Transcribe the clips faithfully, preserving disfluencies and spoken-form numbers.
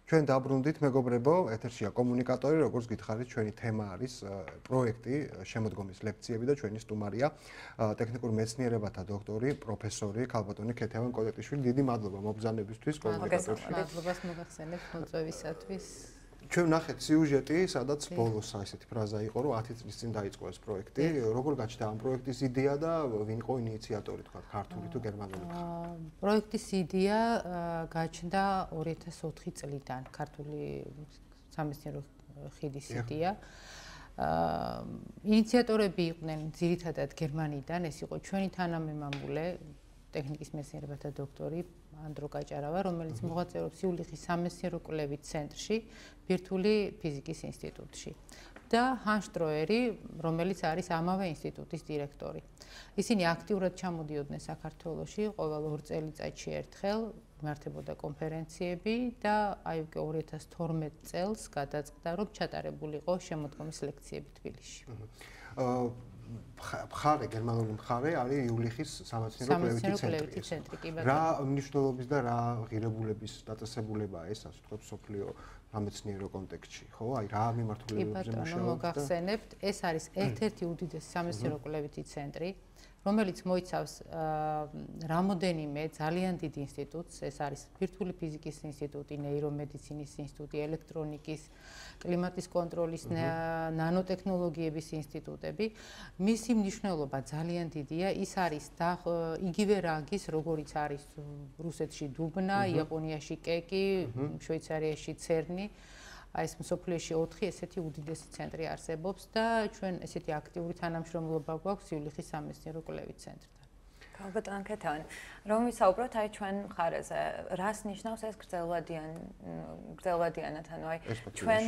ჩვენ დაბრუნდით მეგობრებო, ეთერშია კომუნიკატორი, როგორც გითხარით, ჩვენი თემა არის პროექტი, შემოდგომის ლექციები და ჩვენი სტუმარია ტექნიკურ მეცნიერებათა დოქტორი, პროფესორი ქალბატონი ქეთევან კოლეტიშვილი. დიდი მადლობა მობრძანებისთვის კომუნიკატორში. მადლობას მოგახსენებთ მოწვევისათვის. ჩვენ ვნახეთ სიუჟეტი, სადაც ბოლოს ესეთი ფრაზა იყო, რომ ათი წლის წინ დაიწყო ეს პროექტი. როგორ გაჩნდა ამ პროექტის იდეა და ვინ იყო ინიციატორი, თქვა, ქართული თუ გერმანული? პროექტის იდეა გაჩნდა ორი ათას ოთხი წლიდან, ქართული სამეცნიერო ხიდის იდეა. ინიციატორები იყვნენ ძირითადად გერმანიდან, ეს იყო ჩვენი თანამემამულე, ტექნიკის მეცნიერებათა დოქტორი ანდრო გაჭარავა, რომელიც მოღვაწეობს იულიხის სამეცნიერო კვლევით ცენტრში, ბირთვული ფიზიკის ინსტიტუტში და ჰან შტროერი, რომელიც არის ამავე ინსტიტუტის დირექტორი. ისინი აქტიურად ჩამოდიოდნენ საქართველოში, ყოველ ორ წელიწადში ერთხელ იმართებოდა კონფერენციები და აი უკვე ორი ათას თორმეტ წელს გადაწყდა, რომ ჩატარებულიყო შემოდგომის ლექციები თბილისში. მხარე, გერმანული მხარე არის იულიხის სამეცნიერო კვლევითი ცენტრი. რა მნიშვნელობის და რა ღირებულების დაწესებულებაა ეს, ასე ვთქვათ, სოფლიო სამეცნიერო კონტექსტში, ხო? აი რა მიმართულებებზე მუშაობთ? მოგახსენებთ, ეს არის ერთ-ერთი უდიდესი სამეცნიერო კვლევითი ცენტრი, რომელიც მოიცავს რამოდენიმე ძალიან დიდ ინსტიტუტს, ეს არის ბირთვული ფიზიკის ინსტიტუტი, ნეირომედიცინის ინსტიტუტი, ელექტრონიკის, კლიმატის კონტროლის, ნანოტექნოლოგიების ინსტიტუტები. მისი მნიშვნელობა ძალიან დიდია, ის არის იგივე რანგის, როგორიც არის რუსეთში დუბნა, იაპონიაში კეკი, შვეიცარიაში ცერნი. ეს მსოფლიოში ოთხი ესეთი უდიდესი ცენტრი არსებობს და ჩვენ ესეთი აქტიური თანამშრომლობა გვაქვს იულიხის სამეცნიერო კვლევით ცენტრთან. ქალბატონ ქეთევან, რომ ვისაუბროთ აი ჩვენ მხარეზე, რას ნიშნავს ეს გრძელვადიან გრძელვადიანად, ანუ აი ჩვენ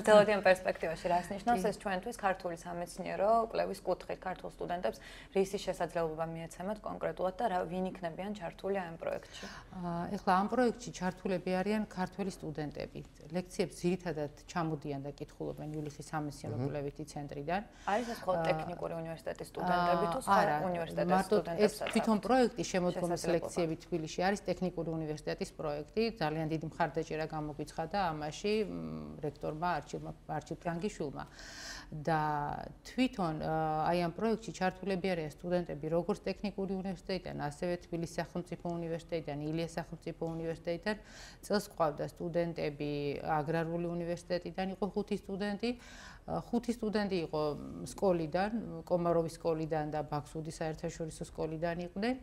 გრძელვადიან პერსპექტივაში რას ნიშნავს ეს ჩვენთვის ქართული სამეცნიერო კვლევის კუთხით ქართულ სტუდენტებს რისი შესაძლებლობა მიეცემათ კონკრეტულად და რა ვინ იქნებიან ჩართული ამ პროექტში? ეხლა ამ პროექტში ჩართულები არიან ქართველი სტუდენტები. ლექციებს ძირითადად ჩამოდიან და კითხულობენ იულიხის სამეცნიერო კვლევითი ცენტრიდან. არის ეს მხოლოდ ტექნიკური უნივერსიტეტის სტუდენტები თუ სხვა უნივერსიტეტის ეს თვითონ პროექტი შემოდგომის ლექციები თბილისში არის ტექნიკური უნივერსიტეტის პროექტი, ძალიან დიდი მხარდაჭერა გამოგვიცხადა ამაში რექტორმა არჩილ ფრანგიშვილმა. და თვითონ აი ამ პროექტში ჩართულები არიან სტუდენტები როგორც ტექნიკური უნივერსიტეტიდან, ასევე თბილისის სახელმწიფო უნივერსიტეტიდან, ილიას სახელმწიფო უნივერსიტეტიდან, წელს ყავდა სტუდენტები აგრარული უნივერსიტეტიდან, იყო ხუთი სტუდენტი, ხუთი სტუდენტი იყო სკოლიდან, კომაროვის სკოლიდან და ბაქსუდის საერთაშორისო სკოლიდან იყვნენ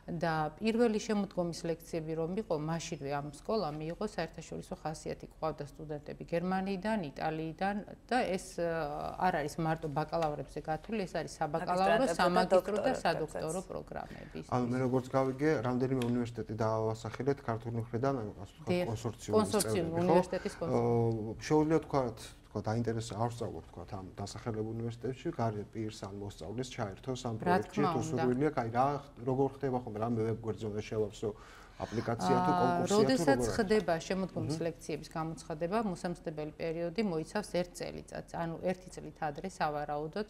და პირველი შემოდგომის ლექციები რომ იყო, მაშინვე ამ სკოლამ მიიღო საერთაშორისო ხასიათი, ყავდა სტუდენტები გერმანიიდან, იტალიიდან და ეს არ არის მარტო ბაკალავრებზე გათვლილი, ეს არის საბაკალავრო, სამაგისტრო და სადოქტორო პროგრამები. ანუ მე როგორც გავიგე, რამდენიმე უნივერსიტეტი დაავასახელეთ ქართული მხრიდან, ასე ვთქვათ, კონსორციუმის კონსორციუმ უნივერსიტეტის კონსორციუმი. შეუძლია თქვათ, თქვათ, დაინტერესება არ ვსწავლობ, თქვათ, ამ დასახელებ უნივერსიტეტში, გარეთ პირს ან მოსწავლეს ჩაერთოს ამ პროექტში, თუ სურვილია, აი რა როგორ ხდება ხომ, რამე ვებგვერდზე შევავსო აპლიკაცია თუ კონკურსია თუ როგორ? როდესაც ხდება შემოდგომის ლექციების გამოცხადება, მოსამზადებელი პერიოდი მოიცავს ერთ წელიწადს, ანუ ერთი წლით ადრე სავარაუდოდ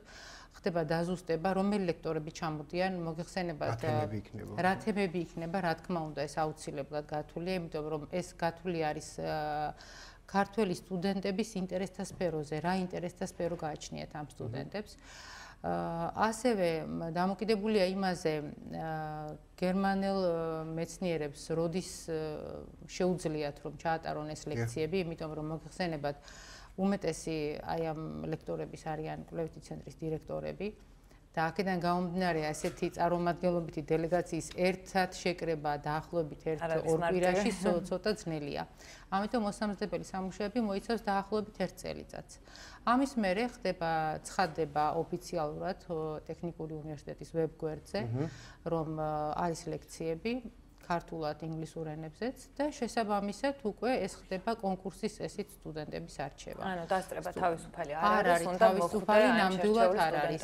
ხდება დაზუსტება, რომელი ლექტორები ჩამოდიან, მოგეხსენებათ რა თემები იქნება, რა თქმა უნდა, ეს აუცილებლად გათვლილია, იმიტომ რომ ეს გათვლილი არის ქართველი სტუდენტების ინტერესთა სფეროზე, რა ინტერესთა სფერო გააჩნიათ ამ სტუდენტებს. ასევე დამოკიდებულია იმაზე, გერმანელ მეცნიერებს როდის შეუძლიათ რომ ჩაატარონ ეს ლექციები, იმიტომ რომ მოგეხსენებათ უმეტესი აი ამ ლექტორების არიან კვლევითი ცენტრის დირექტორები და აქედან გამომდინარე ასეთი წარმომადგენლობითი დელეგაციის ერთად შეკრება დაახლოებით ერთ ორ კვირაში ცოტა ძნელია. ამიტომ მოსამზადებელი სამუშაოები მოიცავს დაახლოებით ერთ წელიწადს. ამის მერე ხდება ცხადდება ოფიციალურად ტექნიკური უნივერსიტეტის ვებგვერდზე, რომ არის ლექციები ქართულად, ინგლისურ ენებზეც და შესაბამისად უკვე ეს ხდება კონკურსის წესით სტუდენტების არჩევა. ანუ დასწრება თავისუფალი არ არის, თავისუფალი ნამდვილად არ არის.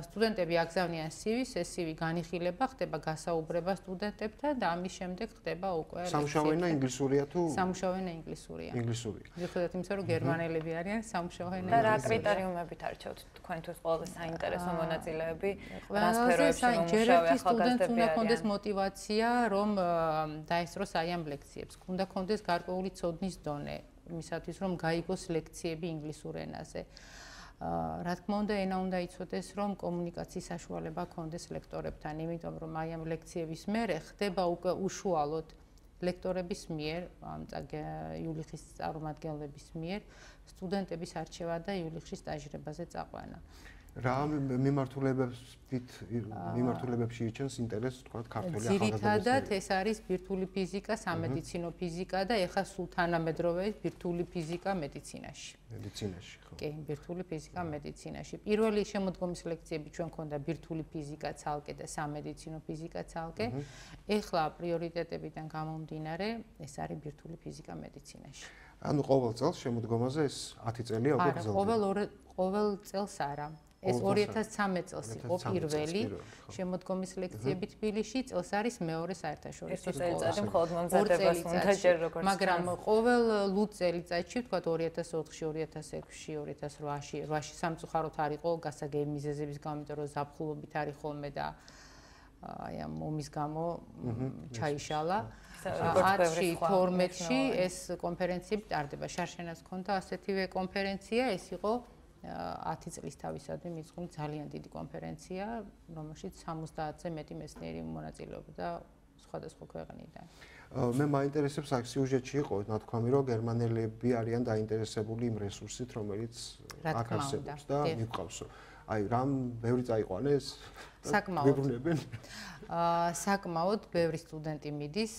სტუდენტები აგზავნიან სივის, ეს სივი განიხილება, ხდება გასაუბრება სტუდენტებთან და ამის შემდეგ ხდება უკვე სამუშაო ენა ინგლისურია თუ სამუშაო ენა ინგლისურია. ინგლისური. მიუხედავად იმისა, რომ გერმანელები არიან, სამუშაო ენა და რა კრიტერიუმებით არჩევთ თქვენთვის ყველაზე საინტერესო მონაწილეები, რა სფეროებში მომუშავე ახალგაზრდები არიან? სტუდენტს უნდა ჰქონდეს мотиваცია, რომ რომ დაესწროს აი ამ ლექციებს. უნდა კონდეს გარკვეული ცოდნის დონე იმისათვის, რომ გაიგოს ლექციები ინგლისურ ენაზე. რა თქმა უნდა, ენა უნდა იცოდეს, რომ კომუნიკაციის საშუალება კონდეს ლექტორებთან, იმიტომ რომ აი ამ ლექციების მერე ხდება უკვე უშუალოდ ლექტორების მიერ, ამ იულიხის წარმომადგენლების მიერ სტუდენტების არჩევა და იულიხში სტაჟირებაზე წაყვანა. რა მიმართულებებით მიმართულებებში იჩენს ინტერესს თქვა ქართველი ახალგაზრდების? ძირითადად ეს არის ბირთვული ფიზიკა, სამედიცინო ფიზიკა და ეხლა სულ თანამედროვე ბირთვული ფიზიკა მედიცინაში. მედიცინაში, ხო. კი, ბირთვული ფიზიკა მედიცინაში. პირველი შემოდგომის ლექციები ჩვენ ქონდა ბირთვული ფიზიკა ცალკე და სამედიცინო ფიზიკა ცალკე. ეხლა პრიორიტეტებიდან გამომდინარე, ეს არის ბირთვული ფიზიკა მედიცინაში. ანუ ყოველ წელს შემოდგომაზე ეს ათი წელია უკვე გრძელდება? არა, ყოველ ყოველ წელს არა. ეს ორი ათას ცხრამეტ წელს იყო პირველი შემოდგომის ლექციები თბილისში, წელს არის მეორე საერთაშორისო სკოლა. ეს მხოლოდ მომზადებას უნდა ჯერ როგორც. მაგრამ ყოველ ლუდ წელიწადში, ვთქვათ ორი ათას ოთხში, ორი ათას ექვსში, ორი ათას ოცში, რვაში სამწუხაროდ არ იყო გასაგები მიზეზების გამო, იმიტომ რომ ზაფხულობით არის ხოლმე და აი ამ ომის გამო ჩაიშალა. ათში, თორმეტში ეს კონფერენციები ტარდება. შარშენას ჰქონდა ასეთივე კონფერენცია, ეს იყო ათი წლის თავისადმი მიწყული ძალიან დიდი კონფერენცია, რომელშიც სამოცდაათზე მეტი მეცნიერი მონაწილეობდა სხვადასხვა ქვეყნიდან. მე მაინტერესებს აქ სიუჟეტში იყო ნათქვამი, რომ გერმანელები არიან დაინტერესებული იმ რესურსით, რომელიც აქ არსებობს და მიყვავსო. აი, რამ ბევრი წაიყვანეს? საკმაოდ. აა საკმაოდ ბევრი სტუდენტი მიდის,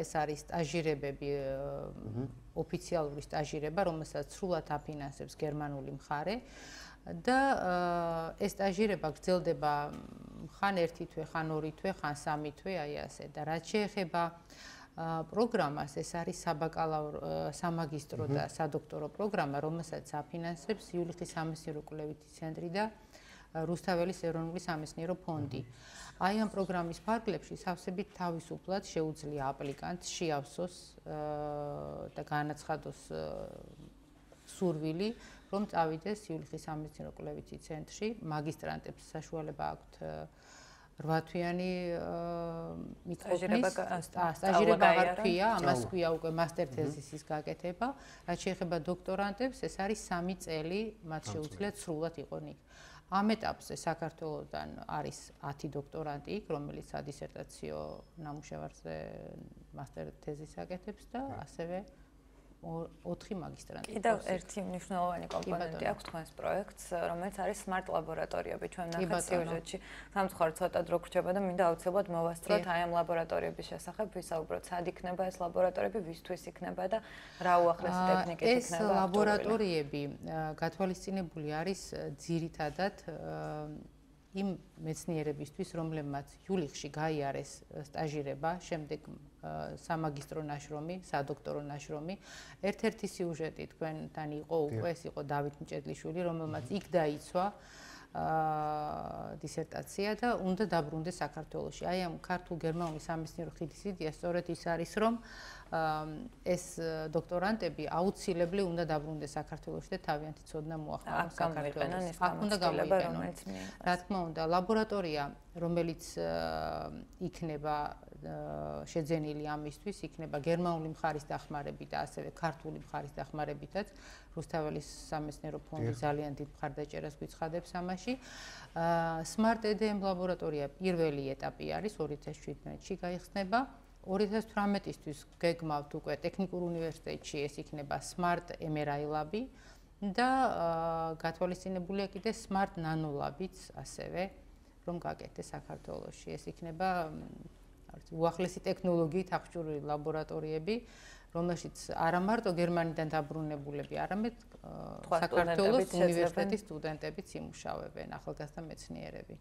ეს არის სტაჟირებები, ოფიციალური სტაჟირება, რომელსაც სრულად აფინანსებს გერმანული მხარე და ეს სტაჟირება გრძელდება ხან ერთი თვე, ხან ორი თვე, ხან სამი თვე, აი ასე და რაც შეეხება პროგრამას, ეს არის საბაკალავრო, სამაგისტრო და სადოქტორო პროგრამა, რომელსაც აფინანსებს იულიხის სამეცნიერო კვლევითი ცენტრი და რუსთაველის ეროვნული სამეცნიერო ფონდი. აი ამ პროგრამის ფარგლებში სავსებით თავისუფლად შეუძლია აპლიკანტს შეავსოს და განაცხადოს სურვილი, რომ წავიდეს იულიხის სამეცნიერო კვლევითი ცენტრში. მაგისტრანტებს საშუალება აქვთ რვა თვიანი მიწყობნის სტაჟირება აღარ ქვია, ამას ქვია უკვე მასტერ თეზისის გაკეთება. რაც შეეხება დოქტორანტებს, ეს არის სამი წელი, მათ შეუძლიათ სრულად იყვნენ იქ. ამ ეტაპზე საქართველოსთან არის ათი დოქტორანტი იქ, რომელიც სადისერტაციო ნამუშევარზე მასტერ თეზის აკეთებს და ასევე ოთხი მაგისტრანტი. კიდევ ერთი მნიშვნელოვანი კომპონენტი აქვს თქვენს პროექტს, რომელიც არის smart ლაბორატორიები. ჩვენ ნახეთ სიუჟეტში, სამწუხაროდ ცოტა დრო გრჩება და მინდა აუცილებლად მოვასწროთ აი ამ ლაბორატორიების შესახებ, ვისაუბროთ, სად იქნება ეს ლაბორატორიები, ვისთვის იქნება და რა უახლესი ტექნიკით იქნება. ეს ლაბორატორიები გათვალისწინებული არის ძირითადად იმ მეცნიერებისთვის, რომლებმაც იულიხში გაიარეს სტაჟირება, შემდეგ სამაგისტრო ნაშრომი, სადოქტორო ნაშრომი. ერთ-ერთი სიუჟეტი თქვენთან იყო უკვე, ეს იყო დავით მჭედლიშვილი, რომელმაც იქ დაიცვა დისერტაცია და უნდა დაბრუნდეს საქართველოში. აი ამ ქართულ-გერმანული სამეცნიერო ხიდის იდეა სწორედ ის არის, რომ ეს დოქტორანტები აუცილებლი უნდა დაბრუნდეს საქართველოში და თავიანთი ცოდნა მოახმარონ საქართველოს. აქ უნდა გამოიყენონ. რა თქმა უნდა, ლაბორატორია, რომელიც იქნება შეძენილი ამისთვის, იქნება გერმანული მხარის დახმარებით და ასევე ქართული მხარის დახმარებითაც. რუსთაველის სამეცნიერო ფონდი ძალიან დიდ მხარდაჭერას გვიცხადებს ამაში. Smart ე დე ემ ლაბორატორია პირველი ეტაპი არის ორი ათას შვიდმეტში გაიხსნება. ორი ათას თვრამეტისთვის გეგმავთ უკვე ტექნიკურ უნივერსიტეტში ეს იქნება Smart ემ არ აი ლაბი და გათვალისწინებულია კიდე Smart Nano ლაბიც ასევე რომ გაკეთდეს საქართველოში. ეს იქნება უახლესი ტექნოლოგიით აღჭურვილი ლაბორატორიები, რომელშიც არა მარტო გერმანიდან დაბრუნებულები, არამედ საქართველოს უნივერსიტეტის სტუდენტებიც იმუშავებენ, ახალგაზრდა მეცნიერები.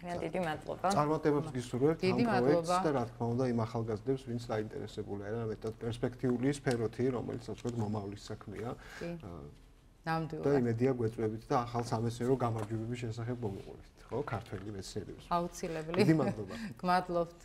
ძალიან დიდი მადლობა. წარმატებებს გისურვებთ ამ პროექტს და რა თქმა უნდა იმ ახალგაზრდებს, ვინც დაინტერესებული არიან მეტად პერსპექტიული სფეროთი, რომელიც ასე ვთქვათ მომავლის საქმეა. ნამდვილად. და იმედია გვეწვევით და ახალ სამეცნიერო გამარჯვებების შესახებ მომიყურებთ, ხო, ქართველი მეცნიერებს. აუცილებლი. დიდი მადლობა. გმადლობთ.